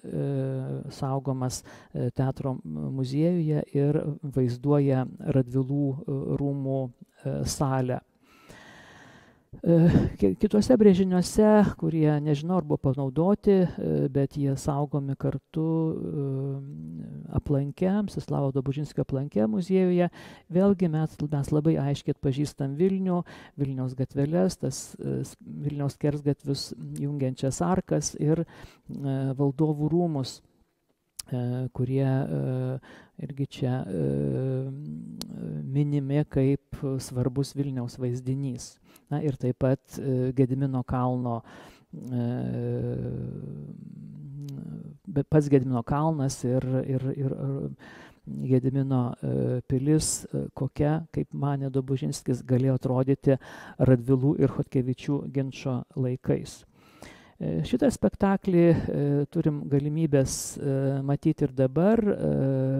saugomas teatro muziejuje ir vaizduoja Radvilų rūmų salę. Kituose brėžiniuose, kurie nežinau ar buvo panaudoti, bet jie saugomi kartu aplanke, Mstislavo Dobužinskio aplanke muziejuje, vėlgi mes labai aiškiai atpažįstam Vilnių, Vilniaus gatveles, tas Vilniaus skersgatvius jungiančias arkas ir valdovų rūmus, kurie irgi čia minimi kaip svarbus Vilniaus vaizdinys. Na, ir taip pat Gedimino kalno, pats Gedimino kalnas ir Gedimino pilis, kokia, kaip manė Dobužinskis, galėjo atrodyti Radvilų ir Chodkevičių ginčo laikais. Šitą spektaklį turim galimybės matyti ir dabar.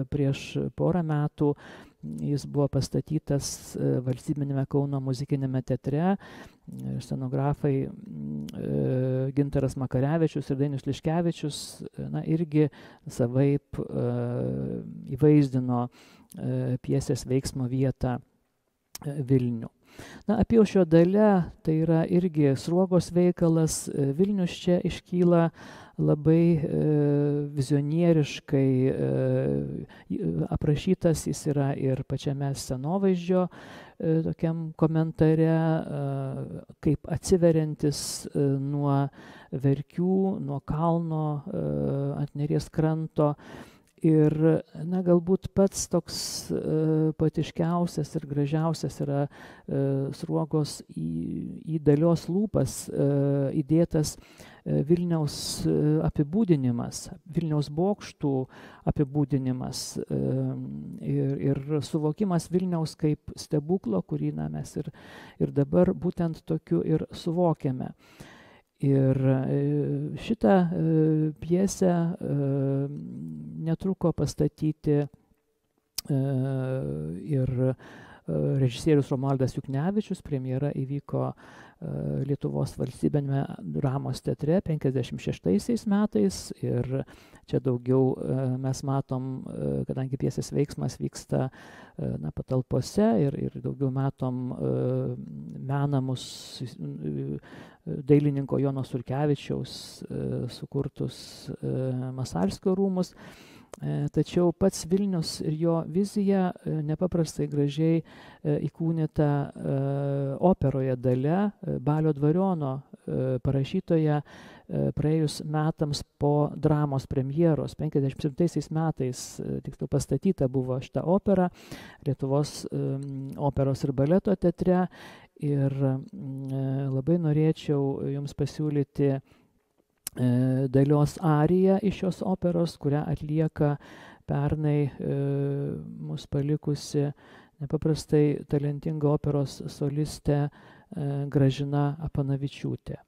Prieš porą metų jis buvo pastatytas Valstybinėme Kauno muzikinėme teatre. Scenografai Gintaras Makarevičius ir Dainius Liškevičius irgi savaip įvaizdino pjesės veiksmo vietą Vilnių. Apyaušrio dalia tai yra irgi Sruogos veikalas. Vilnius čia iškyla labai vizionieriškai aprašytas, jis yra ir pačiame scenovaizdžio tokiam komentare, kaip atsiveriantis nuo Verkių, nuo kalno ant Neries kranto. Ir galbūt pats toks poetiškiausias ir gražiausias yra Sruogos į Dalios lūpas įdėtas Vilniaus apibūdinimas, Vilniaus bokštų apibūdinimas ir suvokimas Vilniaus kaip stebuklo, kurį mes ir dabar būtent tokiu ir suvokiame. Ir šitą pjesę netruko pastatyti ir režisierius Romualdas Juknevičius. Premjera įvyko Lietuvos valstybiniame dramos teatre 56 metais. Ir čia daugiau mes matom, kadangi pjesės veiksmas vyksta patalpose ir daugiau matom menamus dailininko Jono Sulkevičiaus sukurtus Masalskio rūmus. Tačiau pats Vilnius ir jo vizija nepaprastai gražiai įkūnyta operoje Dalia, Balio Dvariono parašytoje praėjus metams po dramos premjeros. 57 metais tiksliau pastatyta buvo šita opera Lietuvos operos ir baleto teatre. Ir labai norėčiau jums pasiūlyti Dalios ariją iš šios operos, kurią atlieka pernai mus palikusi nepaprastai talentinga operos solistė Gražina Apanavičiūtė.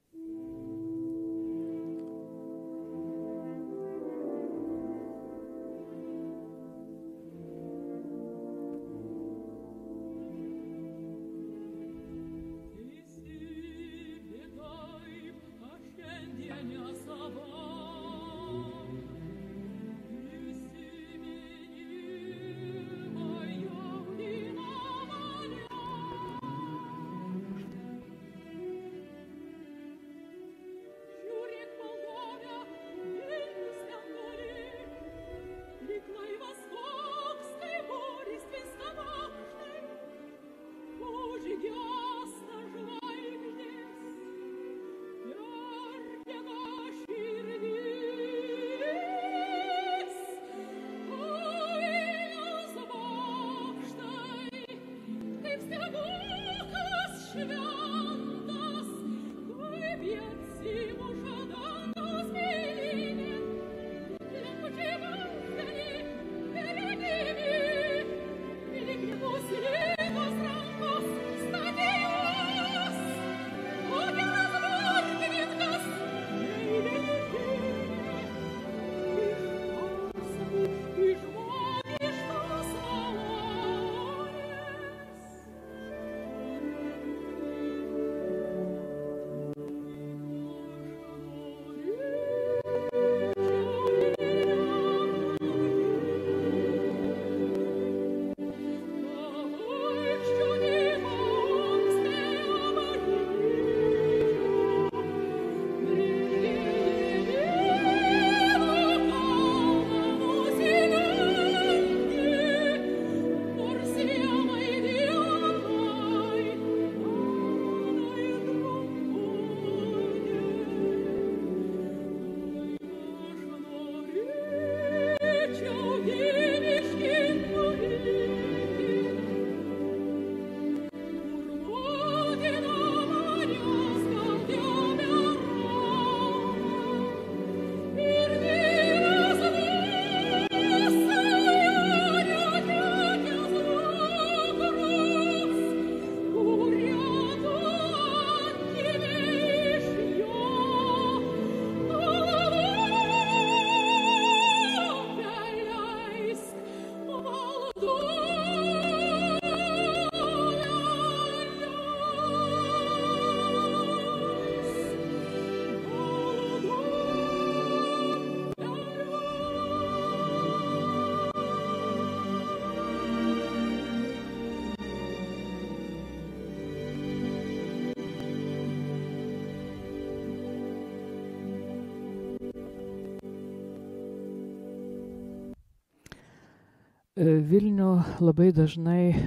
Vilnių labai dažnai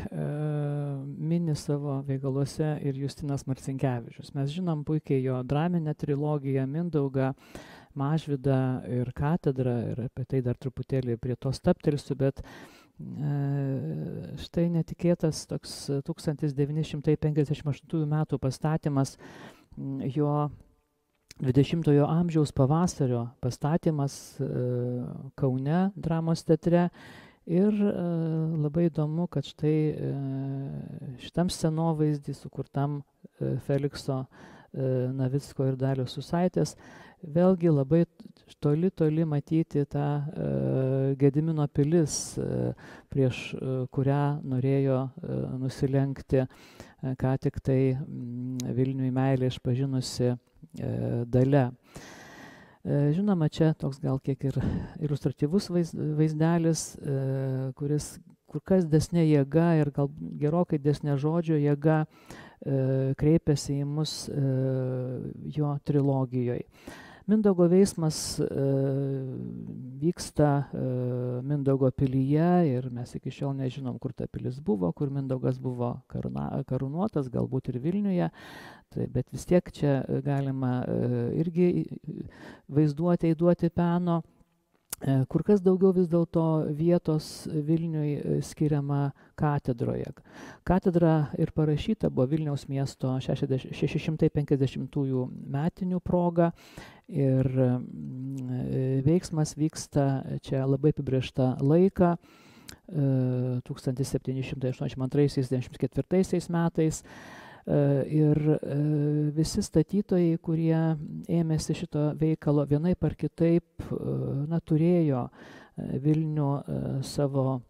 mini savo veikaluose ir Justinas Marcinkevičius. Mes žinom puikiai jo draminę trilogiją Mindaugą, Mažvydą ir Katedrą, ir apie tai dar truputėlį prie to stabtelsiu, bet štai netikėtas toks 1958 metų pastatymas, jo 20-ojo amžiaus pavasario pastatymas Kaune dramos teatre. Ir labai įdomu, kad štai šitam scenovaizdį sukurtam Felikso Navicko ir Dalios Susaitės vėlgi labai toli matyti tą Gedimino pilis, prieš kurią norėjo nusilenkti ką tik tai Vilniui meilę išpažinusi Dalia. Žinoma, čia toks gal kiek ir iliustratyvus vaizdelis, kuris kur kas desnė jėga ir gal gerokai desnė žodžio jėga kreipiasi į mus jo trilogijoje. Mindaugo veiksmas vyksta Mindaugo pilyje ir mes iki šiol nežinom, kur ta pilis buvo, kur Mindaugas buvo karūnuotas, galbūt ir Vilniuje, bet vis tiek čia galima irgi vaizduoti, įduoti peno. Kur kas daugiau vis dėlto vietos Vilniui skiriama katedroje. Katedra ir parašyta buvo Vilniaus miesto 650-ųjų metinių proga ir veiksmas vyksta čia labai apibrėžtą laiką 1782-94 metais. Ir visi statytojai, kurie ėmėsi šito veikalo vienaip ar kitaip, turėjo Vilnių savo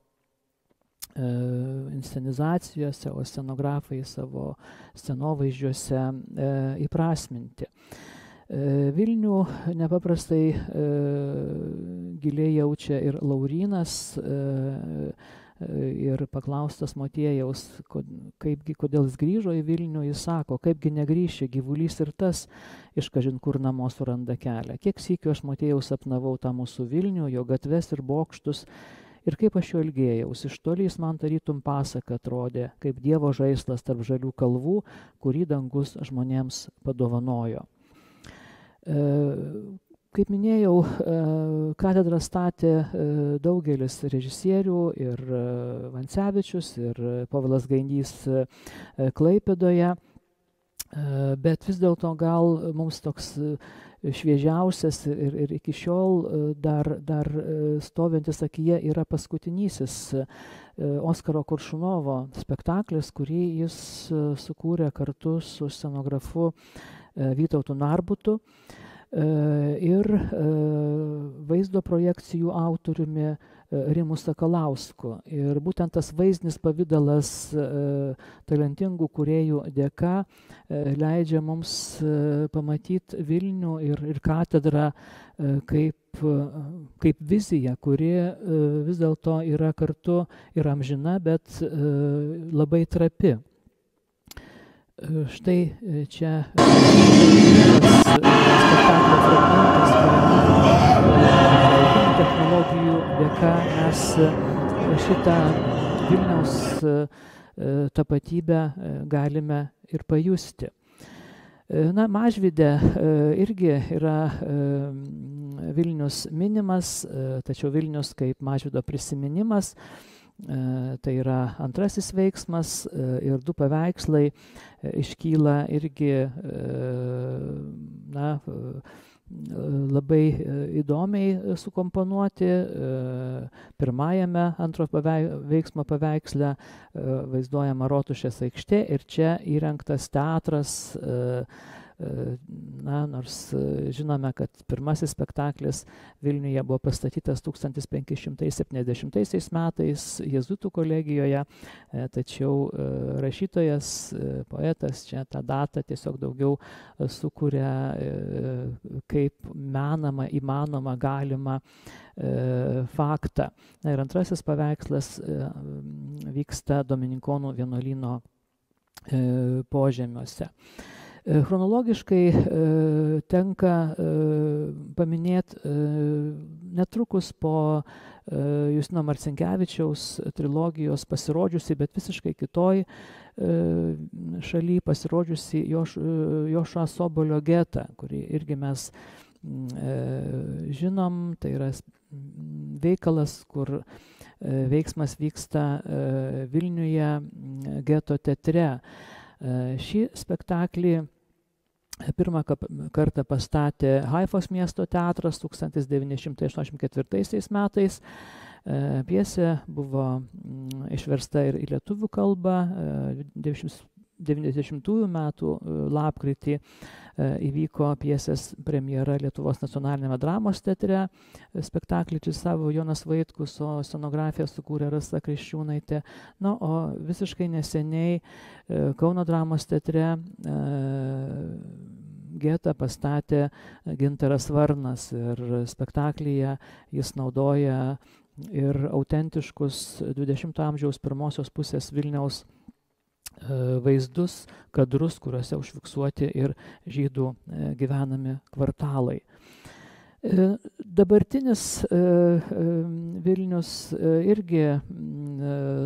inscenizacijose, o scenografai savo scenovaizdžiuose įprasminti. Vilnių nepaprastai giliai jaučia ir Laurynas, ir paklaustas Motiejaus, kodėl jis grįžo į Vilnių, jis sako, kaipgi negrįši, gyvulys ir tas iš kažin kur namo suranda kelią. Kiek sykių aš Motiejaus sapnavau tą mūsų Vilnių, jo gatves ir bokštus, ir kaip aš jo ilgėjaus. Iš toli jis man tarytum pasaka atrodė, kaip Dievo žaislas tarp žalių kalvų, kurį dangus žmonėms padovanojo. Kaip minėjau, katedrą statė daugelis režisierių, ir Vancevičius, ir Povilas Gainys Klaipėdoje, bet vis dėlto gal mums toks šviežiausias ir iki šiol dar stovintis akyje yra paskutinysis Oskaro Koršunovo spektaklis, kurį jis sukūrė kartu su scenografu Vytautu Narbutu ir vaizdo projekcijų autoriumi Rimu Sakalausku. Ir būtent tas vaizdinis pavidalas talentingų kūrėjų dėka leidžia mums pamatyti Vilnių ir katedrą kaip viziją, kuri vis dėlto yra kartu ir amžina, bet labai trapi. Štai čia spektaklio fragmentas, kuriame technologijų dėka mes šitą Vilniaus tapatybę galime ir pajusti. Mažvyde irgi yra Vilnius minimas, tačiau Vilnius kaip Mažvydo prisiminimas. Tai yra antrasis veiksmas ir du paveikslai iškyla irgi labai įdomiai sukomponuoti. Pirmajame antro veiksmo paveiksle vaizduojama Rotušės aikštė ir čia įrengtas teatras. Nors žinome, kad pirmasis spektaklis Vilniuje buvo pastatytas 1570 metais Jėzuitų kolegijoje, tačiau rašytojas, poetas čia tą datą tiesiog daugiau sukuria kaip menamą, įmanomą, galimą faktą. Ir antrasis paveikslas vyksta Dominikonų vienuolyno požemiuose. Chronologiškai tenka paminėti netrukus po Justino Marcinkevičiaus trilogijos pasirodžiusi, bet visiškai kitoj šaly pasirodžiusi Jošua Sobolio getą, kurį irgi mes žinom, tai yra veikalas, kur veiksmas vyksta Vilniuje geto teatre. Šį spektaklį pirmą kartą pastatė Haifos miesto teatras 1984 metais. Pjesė buvo išversta ir į lietuvių kalbą. 90 metų lapkritį įvyko pjesės premjera Lietuvos nacionaliniame dramos teatre. Spektaklį režisavo Jonas Vaitkus, o scenografiją sukūrė Rasa Kriščiūnaitė. Na, o visiškai neseniai Kauno dramos teatre getą pastatė Gintaras Varnas ir spektaklyje jis naudoja ir autentiškus 20 amžiaus pirmosios pusės Vilniaus vaizdus, kadrus, kuriuose užfiksuoti ir žydų gyvenami kvartalai. Dabartinis Vilnius irgi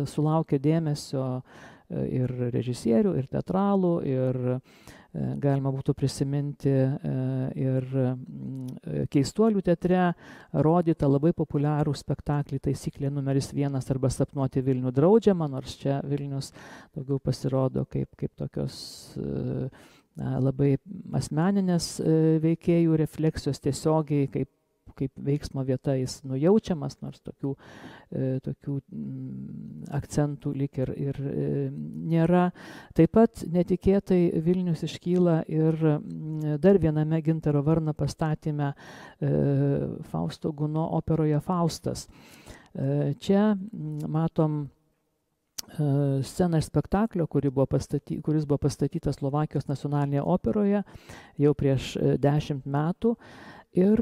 sulaukė dėmesio ir režisierių, ir teatralų, ir galima būtų prisiminti ir Keistuolių teatre rodytą labai populiarų spektaklį Taisyklė numeris 1 arba Sapnuoti Vilnių draudžiama, nors čia Vilnius daugiau pasirodo kaip tokios labai asmeninės veikėjų refleksijos tiesiogiai, kaip veiksmo vieta jis nujaučiamas, nors tokių akcentų lyg ir nėra. Taip pat netikėtai Vilnius iškyla ir dar viename Gintaro Varno pastatyme Fausto Guno operoje Faustas. Čia matom sceną iš spektaklio, kuris buvo pastatytas Slovakijos nacionalinėje operoje jau prieš 10 metų. Ir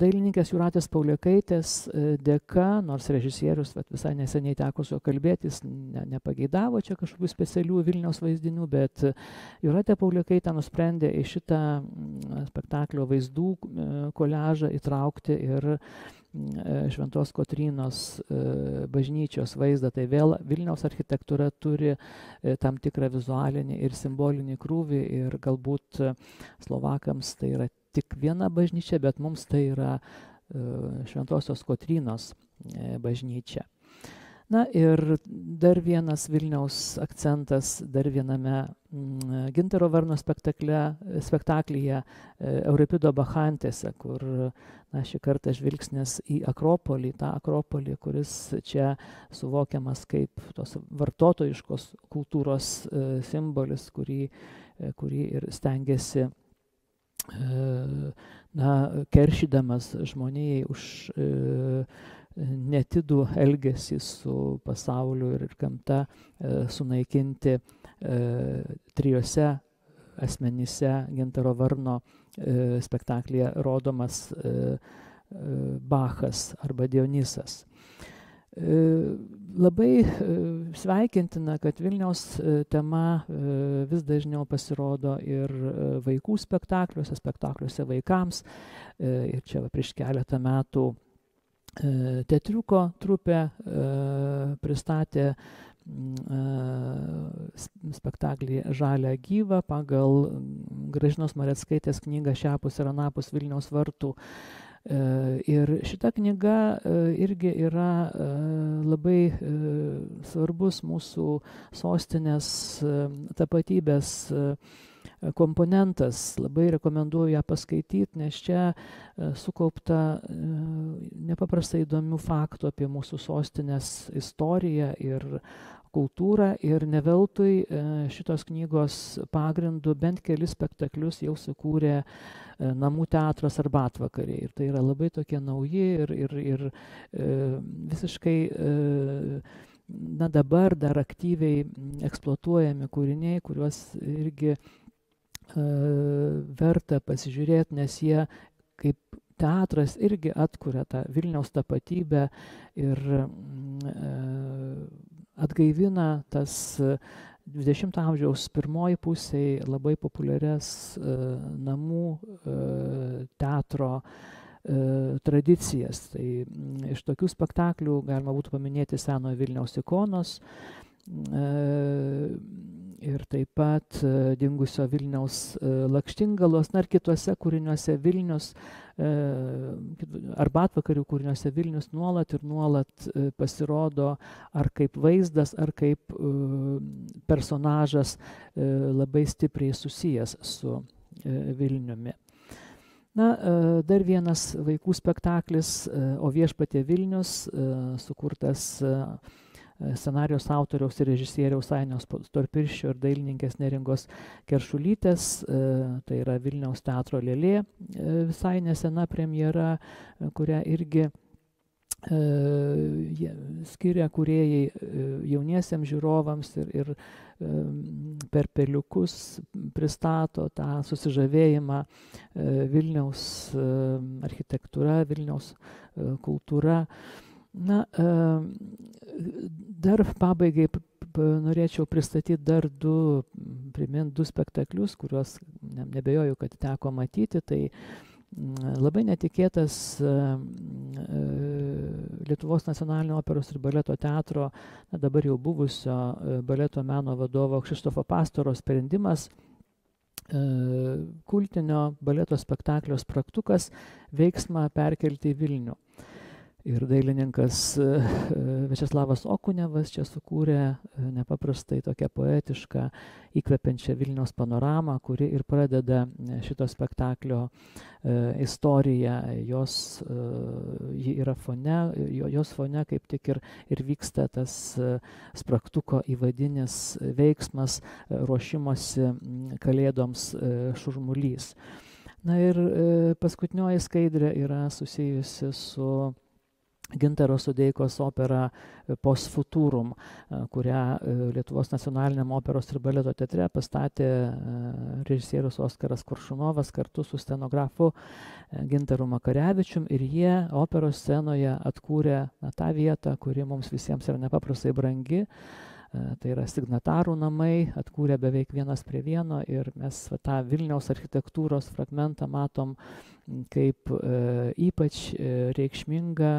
dailininkės Jūratės Pauliukaitės dėka, nors režisierius visai neseniai teko su juo kalbėti, jis nepageidavo čia kažkokių specialių Vilniaus vaizdinių, bet Jūratė Pauliukaitė nusprendė į šitą spektaklio vaizdų koliažą įtraukti ir Šventos Kotrynos bažnyčios vaizdą. Tai vėl Vilniaus architektūra turi tam tikrą vizualinį ir simbolinį krūvį ir galbūt Slovakams tai yra tik viena bažnyčia, bet mums tai yra Šventosios Kotrynos bažnyčia. Na ir dar vienas Vilniaus akcentas dar viename Gintaro Varno spektaklyje Euripido Bachantėse, kur šį kartą žvilgsnis į Akropolį, tą Akropolį, kuris čia suvokiamas kaip tos vartotojiškos kultūros simbolis, kurį ir stengiasi keršydamas žmonijai už netidų elgesį su pasauliu ir gamta sunaikinti 3 asmenyse Gintaro Varno spektaklyje rodomas Bachas arba Dionysas. Labai sveikintina, kad Vilniaus tema vis dažniau pasirodo ir vaikų spektakliuose vaikams. Ir čia prieš keletą metų teatriuko trupė pristatė spektaklį Žalią gyvą pagal Gražinos Mareckaitės knygą Šiapus ir anapus Vilniaus vartų. Ir šita knyga irgi yra labai svarbus mūsų sostinės tapatybės komponentas. Labai rekomenduoju ją paskaityti, nes čia sukaupta nepaprastai įdomių faktų apie mūsų sostinės istoriją ir kultūrą, ir ne veltui šitos knygos pagrindu bent kelis spektaklius jau sukūrė Namų teatras Arbatvakariai. Ir tai yra labai tokie nauji ir visiškai dabar dar aktyviai eksploatuojami kūriniai, kuriuos irgi verta pasižiūrėti, nes jie kaip teatras irgi atkuria tą Vilniaus tapatybę ir atgaivina tas 20 amžiaus pirmoji pusėje labai populiarias namų teatro tradicijas. Tai iš tokių spektaklių galima būtų paminėti Senojo Vilniaus ikonos ir taip pat Dingusio Vilniaus lakštingalos, ir kituose kūriniuose Vilnius, arbatvakarių kūriniuose Vilnius nuolat ir nuolat pasirodo ar kaip vaizdas, ar kaip personažas labai stipriai susijęs su Vilniumi. Dar vienas vaikų spektaklis O viešpatie Vilnius, sukurtas scenarijos autoriaus ir režisieriaus Ainio Storpirščio ir dailininkės Neringos Keršulytės, tai yra Vilniaus teatro Lėlė, visai nesena premjera, kurią irgi skiria kūrėjai jauniesiems žiūrovams ir per peliukus pristato tą susižavėjimą Vilniaus architektūra, Vilniaus kultūra. Dar pabaigai norėčiau pristatyti dar primint du spektaklius, kuriuos nebejoju, kad teko matyti. Tai labai netikėtas Lietuvos nacionalinio operos ir baleto teatro, dabar jau buvusio baleto meno vadovo Kšištofo Pastoro sprendimas kultinio baleto spektaklio Spragtukas veiksmą perkelti į Vilnių. Ir dailininkas Viačeslavas Okunevas čia sukūrė nepaprastai tokią poetišką, įkvepiančią Vilniaus panoramą, kuri ir pradeda šito spektaklio istoriją. Ji yra fone, jos fone kaip tik ir vyksta tas Spragtuko įvadinis veiksmas, ruošimosi kalėdoms šurmulys. Ir paskutinioji skaidrė yra susijusi su Gintaro Sodeikos opera Post Futurum, kurią Lietuvos nacionaliniam operos ir baleto teatre pastatė režisierius Oskaras Koršunovas kartu su scenografu Gintaru Makarevičium, ir jie operos scenoje atkūrė tą vietą, kuri mums visiems yra nepaprastai brangi. Tai yra signatarų namai, atkūrė beveik 1:1, ir mes tą Vilniaus architektūros fragmentą matom kaip ypač reikšmingą,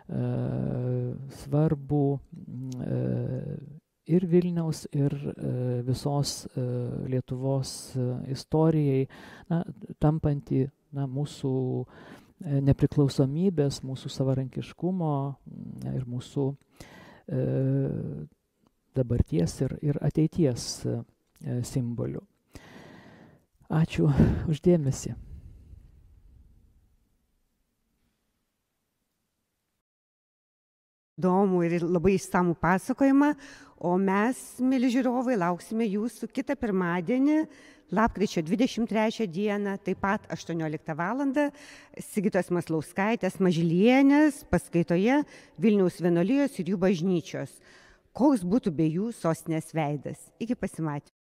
svarbų ir Vilniaus, ir visos Lietuvos istorijai, tampantį mūsų nepriklausomybės, mūsų savarankiškumo ir mūsų dabarties ir ateities simbolių. Ačiū uždėmesį. Įdomų ir labai išsamų pasakojimą, o mes, mieli žiūrovai, lauksime jūsų kitą pirmadienį, lapkričio 23 dieną, taip pat 18 val. Sigitos Maslauskaitės Mažylienės paskaitoje Vilniaus vienuolijos ir jų bažnyčios. Koks būtų be jų sostinės veidas. Iki pasimatymo.